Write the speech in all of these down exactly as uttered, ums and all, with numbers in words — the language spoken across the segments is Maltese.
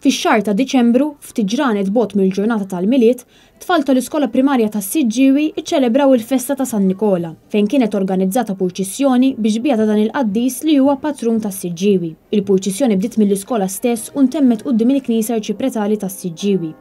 Fix-xahar ta' Diċembru, ftit ġranet bogħod mill-ġurnata tal-Milied, tfal tal-Iskola Primarja tas-Siġġiewi iċċelebraw il-festa ta' San Nikola, fejn kienet organizzata purċissjoni biex bija ta' dan il-qaddis li huwa patrun tas-Siġġiewi. Il-purċissjoni bdiet mill-iskola stess u ntemmet quddiem il-Knisja Arċipretali tas-Siġġiewi.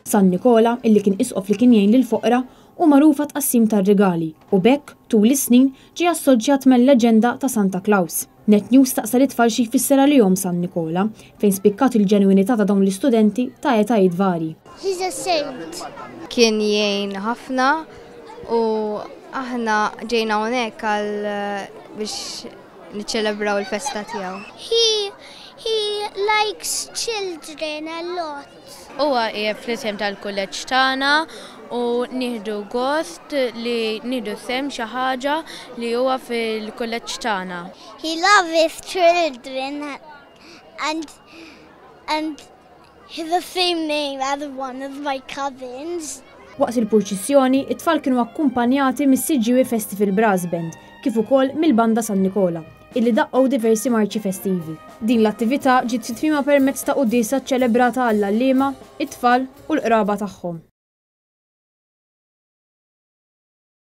San Nikola, illi kien isqof li kien jgħin lill-foqra, hu magħruf għat-tqassim tar-rigali u b'hekk tul is-snin ġie assoċjat mal-leġenda ta' Santa Claus. Net News staqsa lit-tfal xi jfisser għalihom San Nikola, fejn spikkat il-ġenwinità ta' dawn l-istudenti ta' etajiet varji. He's a saint. Kien jgħin ħafna u aħna ġejna hawnhekk għal biex niċċelebraw il-festa tiegħu. He, he likes children a lot. Huwa qiegħed fl-isem tal-kulleġġ tagħna u nieħdu gost li nieħdu sehem xi ħaġa li huwa fil-kulleġġ tagħna. He loves children and, and he's the same name as one of my cousins. Waqt il-purċissjoni, it-tfal kienu akkumpanjati mis-Siġġiewi Festival Brass Band, kif ukoll mill-Banda San Nikola, illi daqqgħu diversi marċi festivi. Din l-attività ġiet fi tmiemha permezz ta' quddiesa ċċelebrata għall-għalliema, it-tfal u l-qraba tagħhom.